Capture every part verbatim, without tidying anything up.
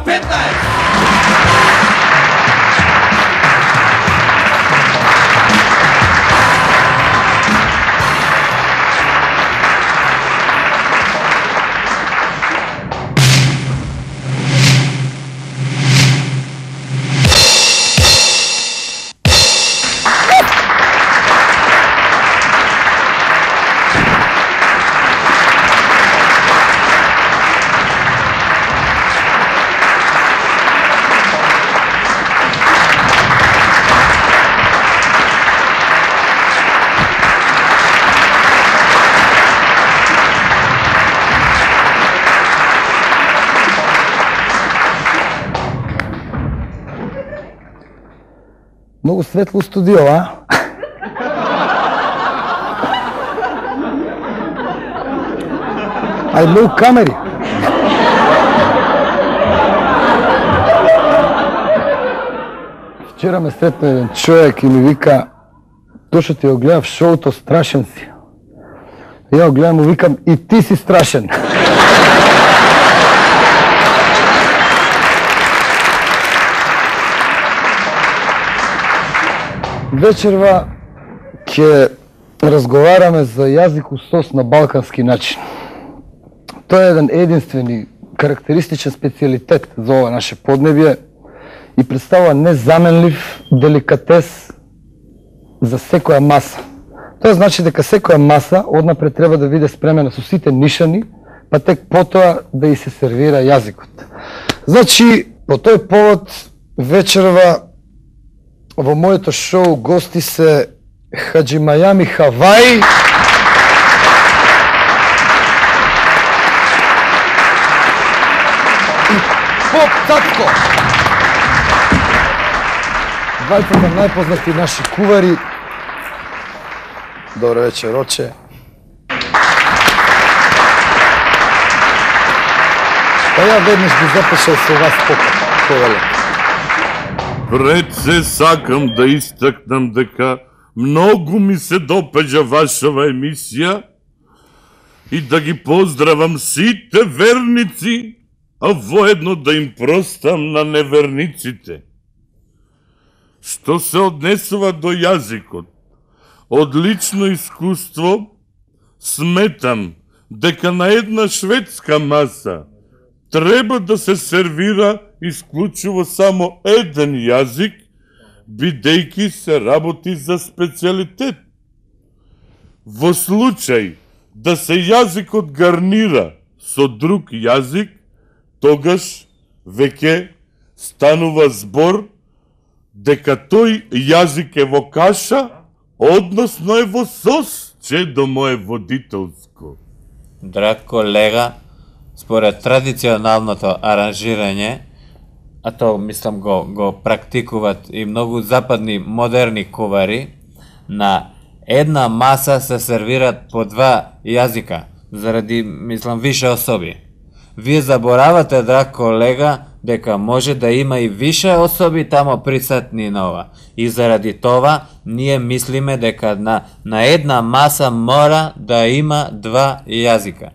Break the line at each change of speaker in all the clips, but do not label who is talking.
петнаесет.
Многу светло студио, а? А и многу камери. Вчера ме сретна еден човек и ми вика: "Дошо ти го гледав шоуто, страшен си." Ја го гледам, му викам: "И ти си страшен." Вечерва ќе разговараме за јазикосос на балкански начин. Тоа е еден единствен и карактеристичен специјалитет за ова наше поднебје и представува незаменлив деликатес за секоја маса. Тоа значи дека секоја маса однапред треба да биде спремена со сите нишани, па тек потоа да и се сервира јазикот. Значи, по тој повод вечерва во моето шоу гости се Хаджи Мајами Хаваи и Поп Цацко. Двајцата најпознати наши кувари. Добро вечер, Роче. Па ја веднаш би запишал со вас Поп, повеле.
Пред се сакам да истакнам дека многу ми се допаѓа вашава емисија и да ги поздравам сите верници, а воедно да им простам на неверниците. Што се однесува до јазикот, од лично искуство сметам дека на една шведска маса треба да се сервира исклучиво само еден јазик, бидејќи се работи за специјалитет. Во случај да се јазикот гарнира со друг јазик, тогаш веќе станува збор дека тој јазик е во каша, односно е во сос, чедо мое водителско.
Драг колега, според традиционалното аранжирање, а то мислам го, го практикуват и многу западни модерни кувари, на една маса се сервират по два јазика, заради, мислам, више особи. Вие заборавате, драг колега, дека може да има и више особи тамо присутни на ова. И заради това, ние мислиме дека на, на една маса мора да има два јазика.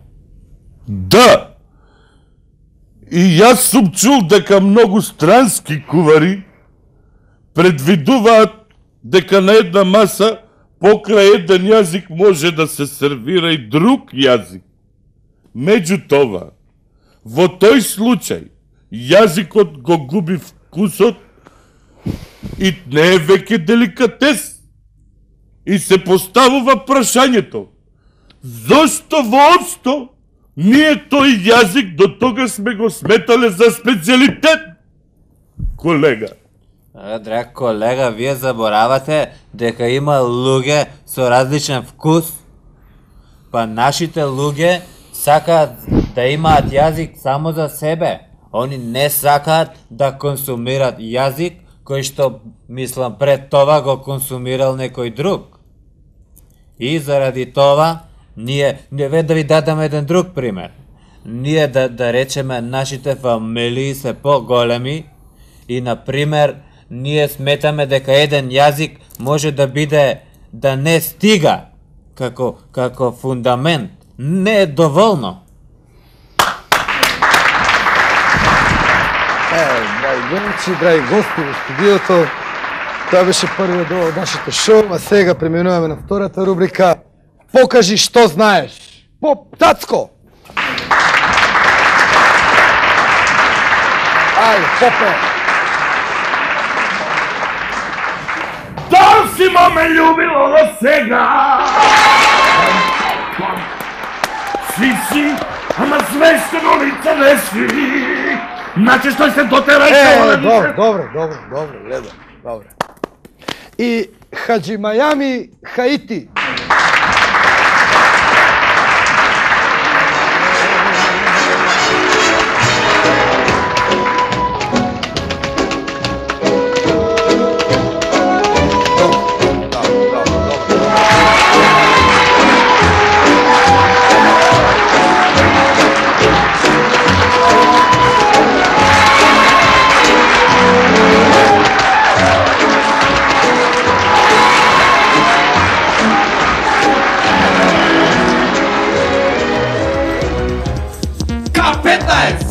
Да! И јас сум чул дека многу странски кувари предвидуваат дека на една маса покрај еден јазик може да се сервира и друг јазик. Меѓутоа, во тој случај, јазикот го губи вкусот и не е веќе деликатес. И се поставува прашањето: зошто воопшто ние тој јазик до тога сме го сметале за специјалитет, колега?
Драг колега, вие заборавате дека има луѓе со различен вкус. Па нашите луѓе сакаат да имаат јазик само за себе. Они не сакаат да консумират јазик кој што, мислам, пред това го консумирал некој друг. И заради това, ние, ние да ви дадам еден друг пример. Ние да, да речеме нашите фамилии се по-големи и, например, ние сметаме дека еден јазик може да биде, да не стига како, како фундамент. Не е доволно.
Е, драги гледачи, драги гости во студиото, тоа беше првиот дел од нашето шоу, а сега преминуваме на втората рубрика Покажи што знаеш. Поп Тацко! Ајде, попе!
Да си ме љубило до сега! Си си, ама свештено лице не си! Значи што се дотера и
Е,
тоа да
добро, добро, добро, добро, гледам, добро. И Хаджи Мајами Хаити.
K petnaest!